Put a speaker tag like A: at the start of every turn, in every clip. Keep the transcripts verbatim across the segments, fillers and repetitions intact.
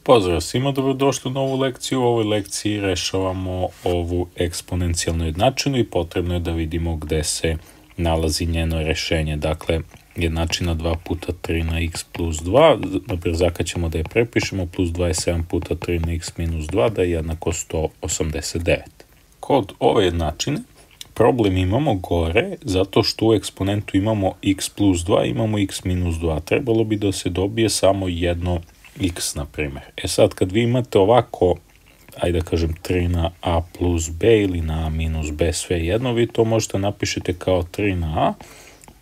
A: Pozdrav svima, dobrodošli u novu lekciju. U ovoj lekciji rešavamo ovu eksponencijalnu jednačinu i potrebno je da vidimo gde se nalazi njeno rešenje. Dakle, jednačina dva puta tri na x plus dva, naprijed zakaćemo da je prepišemo, plus dvadeset sedam puta tri na x minus dva, da je jednako sto osamdeset devet. Kod ove jednačine problem imamo gore, zato što u eksponentu imamo x plus dva, imamo x minus dva. Trebalo bi da se dobije samo jedno x, na primjer. E sad, kad vi imate ovako, ajde da kažem tri na a plus b ili na a minus b, sve jedno, vi to možete napišete kao tri na a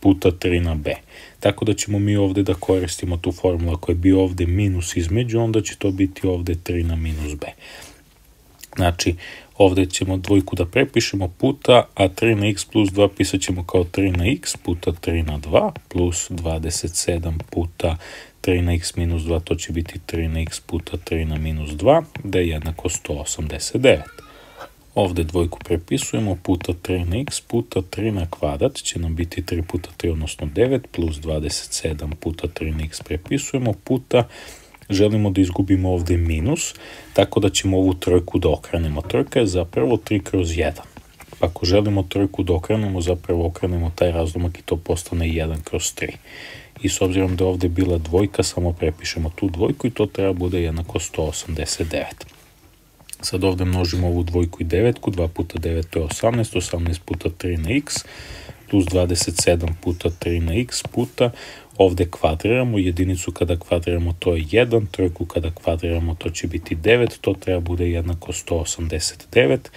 A: puta tri na b. Tako da ćemo mi ovde da koristimo tu formulu. Ako je bio ovde minus između, onda će to biti ovde tri na minus b. Znači, ovde ćemo dvojku da prepišemo puta, a tri na x plus dva pisat ćemo kao tri na x puta tri na dva plus dvadeset sedam puta tri na x minus dva, to će biti tri na x puta tri na minus dva, da je jednako sto osamdeset devet. Ovde dvojku prepisujemo puta tri na x puta tri na kvadrat će nam biti tri puta tri, odnosno devet, plus dvadeset sedam puta tri na x prepisujemo puta, želimo da izgubimo ovde minus, tako da ćemo ovu trojku da okrenemo. Trojka je zapravo tri kroz jedan. Ako želimo trojku da okrenemo, zapravo okrenemo taj razlomak i to postane jedan kroz tri. I s obzirom da je ovde bila dvojka, samo prepišemo tu dvojku i to treba bude jednako sto osamdeset devet. Sad ovde množimo ovu dvojku i devetku, dva puta devet to je osamnaest, osamnaest puta tri na x, plus dvadeset sedam puta tri na x puta, ovde kvadriramo, jedinicu kada kvadriramo to je jedan, trojku kada kvadriramo to će biti devet, to treba bude jednako sto osamdeset devet,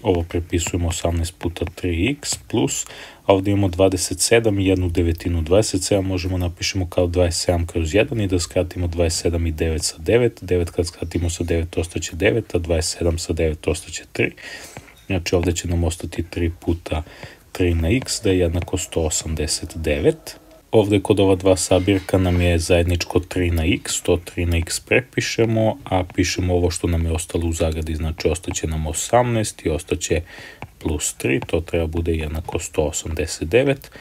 A: ovo prepisujemo osamnaest puta tri x plus, a ovde imamo dvadeset sedam i jednu devetinu, dvadeset sedam možemo napišemo kao dvadeset sedam kroz jedan i da skratimo dvadeset sedam i devet sa devet, devet kad skratimo sa devet ostaće devet, a dvadeset sedam sa devet ostaće tri, znači ovde će nam ostati tri puta tri na x, da je jednako sto osamdeset devet. Ovde kod ova dva sabirka nam je zajedničko tri na x, to tri na x prepišemo, a pišemo ovo što nam je ostalo u zagradi, znači ostaće nam osamnaest i ostaće plus tri, to treba bude jednako sto osamdeset devet,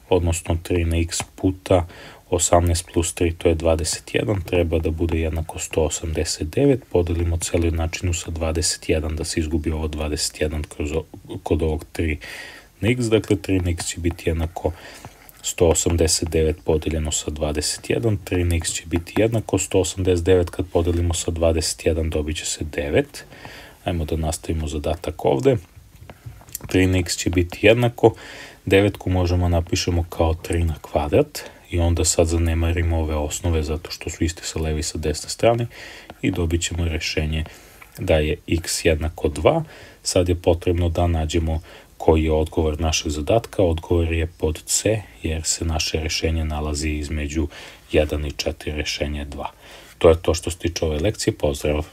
A: odnosno tri na x puta osamnaest plus tri, to je dvadeset jedan, treba da bude jednako sto osamdeset devet, podelimo celu jednačinu sa dvadeset jedan, da se izgubi ovo dvadeset jedan kroz, kod ovog tri na x, dakle tri na x će biti jednako sto osamdeset devet podeljeno sa dvadeset jedan, tri na x će biti jednako sto osamdeset devet, kad podelimo sa dvadeset jedan dobit će se devet. Ajmo da nastavimo zadatak ovde. tri na x će biti jednako, devetku možemo napišemo kao tri na kvadrat i onda sad zanemarimo ove osnove zato što su iste sa leve i sa desne strane i dobit ćemo rešenje da je x jednako dva. Sad je potrebno da nađemo koji je odgovor našeg zadatka. Odgovor je pod C, jer se naše rešenje nalazi između jedan i četiri, rešenje dva. To je to što se tiče ove lekcije. Pozdrav!